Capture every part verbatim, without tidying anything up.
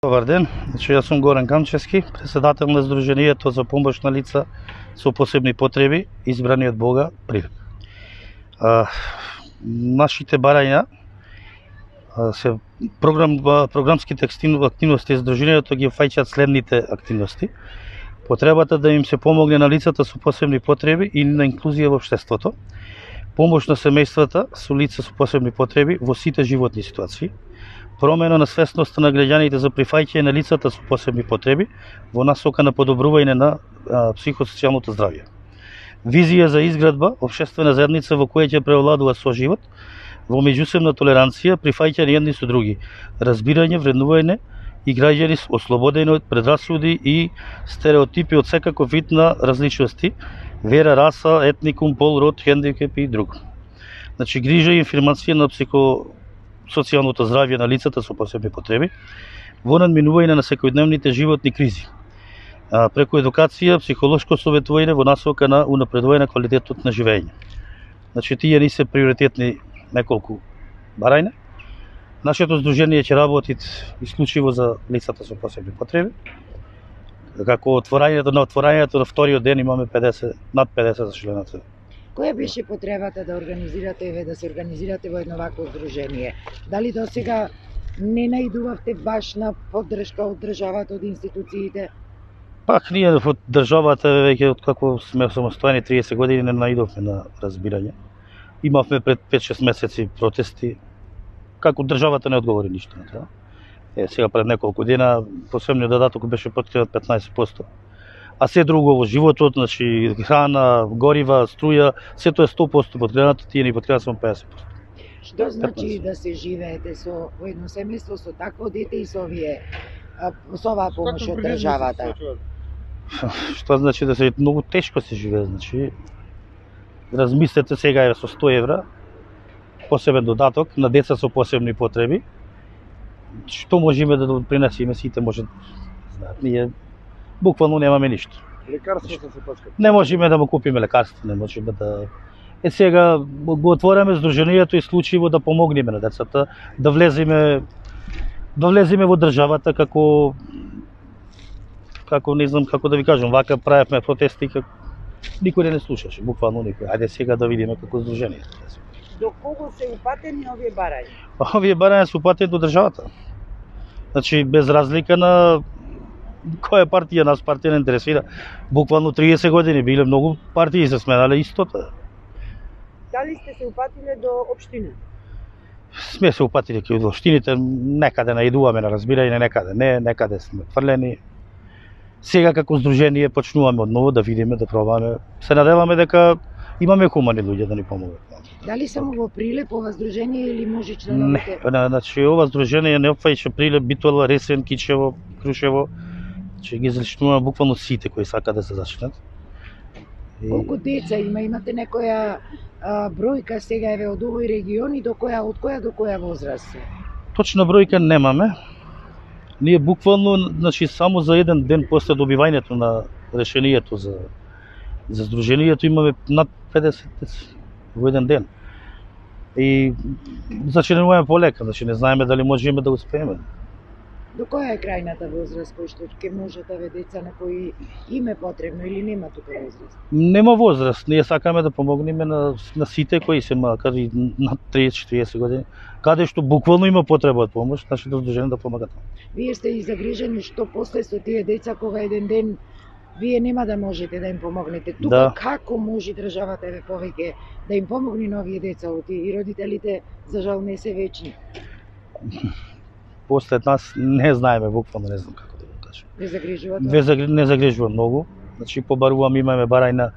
Добар ден, значи јас сум Горан Камчевски, председател на Сдруженијето за помош на лица со посебни потреби, избрани од Бога Прилеп. А, нашите барања а, се програм програмските активности Сдруженијето ги фаќаат следните активности: потребата да им се помогне на лицата со посебни потреби и на инклузија во општеството, помош на семејствата со лица со посебни потреби во сите животни ситуации, промена на свесноста на граѓаните за прифаќање на лицата со посебни потреби во насока на подобрување на а, психосоцијалното здравје. Визија за изградба општествена заедница во која ќе преовладува соживот во меѓусебна толеранција, прифаќање едни со други, разбирање, вреднување и граѓани ослободени од предрасуди и стереотипи од секаков вид на различности, вера, раса, етникум, пол, род, хендикеп и друго. Значи, грижа и информација на психосоцијалното здравје на лицата со посебни потреби во надминување на секојдневните животни кризи, а, преку едукација, психолошко советување во насока на унапредување на квалитетот на живење. Значи, тие ни се приоритетни неколку барања. Нашето здружение ќе работи исклучиво за лицата со посебни потреби. Како отворањето на отворањето на вториот ден имаме педесет, над педесет членови. Која беше потребата да организирате еве да се организирате во едно вакво здружение? Дали досега не наидувавте баш на поддршка од државата, од институциите? Пак ние од државата веќе од како сме самостојни триесет години не наидовме на разбирање. Имавме пред пет-шест месеци протести, како државата не одговори ништо на тоа. Е, сега пред неколку дена посебниот додаток беше подкрепен петнаесет проценти. А се друго во животот, значи храна, горива, струја, се тоа е сто проценти подкрепено, тие ни подкрепат само педесет проценти. Што значи да се живеете со во едно семејство со такво дете и со овие со оваа помош од државата? Што значи да се многу тешко се живее, значи размислете сега е со сто евра посебен додаток на деца со посебни потреби. Што можеме да допринесеме, сите можат знаат. Ние буквално немаме ништо. Лекарствата се пачкат. Не можеме да му купиме лекарство, не можеме да... Е сега го отвораме здруженијето исклучиво да помогнеме на децата, да влеземе да влеземе во државата како како не знам како да ви кажам, вака правевме протести како никој не слушаше, буквално никој. Ајде сега да видиме како здружение. До кого се упатени овие барања? Овие барања се упатени до државата. Значи без разлика на која партија, нас партија не интересира. Буквално триесет години биле многу партии се сменале истото. Дали сте се упатиле до општина? Сме се упатиле кај до општините, некаде наидуваме на разбирање, некаде не, некаде сме фрлени. Сега како здружение почнуваме одново да видиме, да пробаме. Се надеваме дека имаме хумани луѓе да ни помогат. Дали само во Прилеп ова здружение или може членовите? Не, значи ова здружение не опфаќа Прилеп, Битола, Ресен, Кичево, Крушево. Значи ги зачнуваме буквално сите кои сакаат да се зачнат. И... Колку деца има? Имате некоја а, бројка сега еве од овој регион и до која од која до која возраст? Точна бројка немаме. Ние буквално, значи само за еден ден после добивањето на решението за за здруженијето имаме над педесет деца во еден ден. И зачинуваме полека, значи не знаеме дали можеме да успееме. До која е крајната возраст кој што ќе можат да ве деца на кои им е потребно или нема тука возраст? Нема возраст, ние сакаме да помогнеме на, на сите кои се макар и над триесет-четириесет години, каде што буквално има потреба од помош, нашите здружени да помагат. Вие сте и загрижени што после со тие деца кога еден ден вие нема да можете да им помогнете. Тука да. Како може државата еве повеќе да им помогне на овие деца, и родителите за жал не се вечни? После нас не знаеме, буквално не знам како да го кажам. Не загрижува тоа? Загри... Не загрижува многу. Значи побарувам, имаме барајна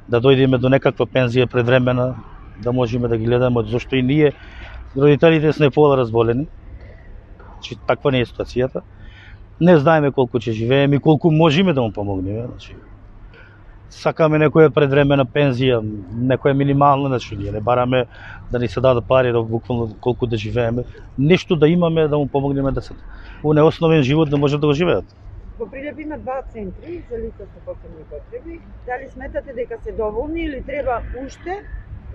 да дојдеме до некаква пензија предвремена, да можеме да ги гледаме, зашто и ние родителите сме пола разболени. Значи таква не е ситуацијата. Не знаеме колку ќе живееме и колку можеме да му помогнеме, значи. Сакаме некоја предвремена пензија, некоја минимална, значи ние не бараме да ни се дадат пари да буквално колку да живееме, нешто да имаме да му помогнеме децата. Во неосновен живот да можат да го живеат. Во Прилеп има два центри за лица со посебни потреби. Дали сметате дека се доволни или треба уште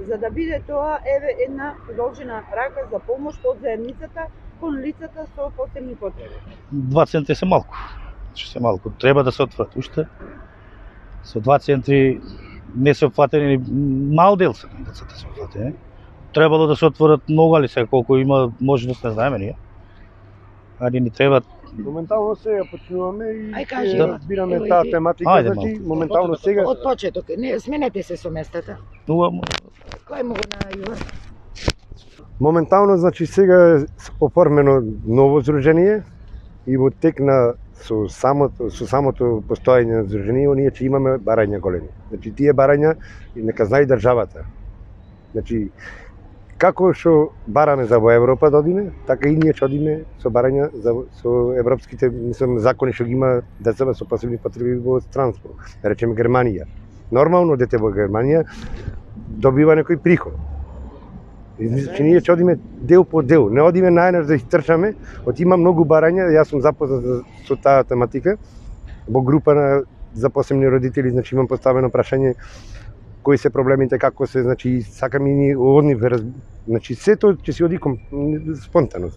за да биде тоа еве една продолжена рака за помош од заедницата кон лицата со посебни потреби? Два центри се малку. Значи се малку. Треба да се отворат уште. Со два центри не се опфатени ни мал дел се децата се опфатени. Требало да се отворат многу, али сега колку има можност не знаеме ние. Али ни треба. Моментално сега почнуваме и Ај, кажи, ќе да. разбираме Ево, таа иди. тематика, Ајде значи малку. моментално сега Од почеток, не сменете се со местата. Нуа Кој му го најува? моментално значи сега е оформено ново здружение и во тек на со самото со самото постоење на здружение ние ќе имаме барања големи. Значи тие барања и нека знае државата. Значи како што бараме за во Европа да одиме, така и ние ќе одиме со барања за со европските, мислам, закони што ги има децата со посебни потреби во странство. Да речеме Германија. Нормално дете во Германија добива некој приход. Значи ние ќе одиме дел по дел, не одиме најнаш да их трчаме, од има многу барања, јас сум запознат со таа тематика во група на за посебни родители, значи имам поставено прашање кои се проблемите, како се, значи сакаме ни од нив, значи сето ќе се оди ком спонтано.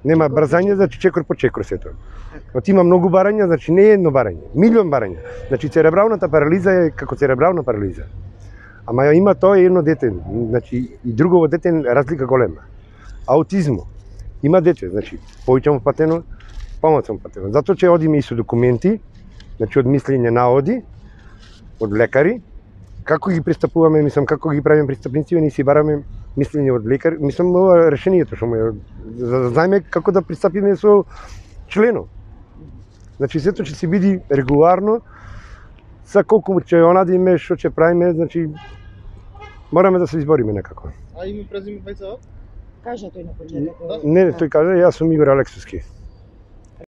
Нема брзање, значи чекор по чекор сето. Од има многу барања, значи не е едно барање, милион барања. Значи церебралната парализа е како церебрална парализа. Ама има тоа едно дете, значи и друго дете разлика голема. Аутизмо. Има дете, значи повеќе му патено, помалку му патено. Затоа че одиме и со документи, значи од мислење наводи, од лекари, како ги пристапуваме, мислам, како ги правиме пристапници, ние си бараме мислење од лекар, мислам, ова решението што му е, за да знаеме како да пристапиме со членот. Значи сето ќе се биде регуларно, за колку ќе онадиме, што ќе правиме, значи мораме да се избориме некако. А име презиме двајца? Кажа тој на почеток. Не, тој каже, јас сум Игор Алексовски.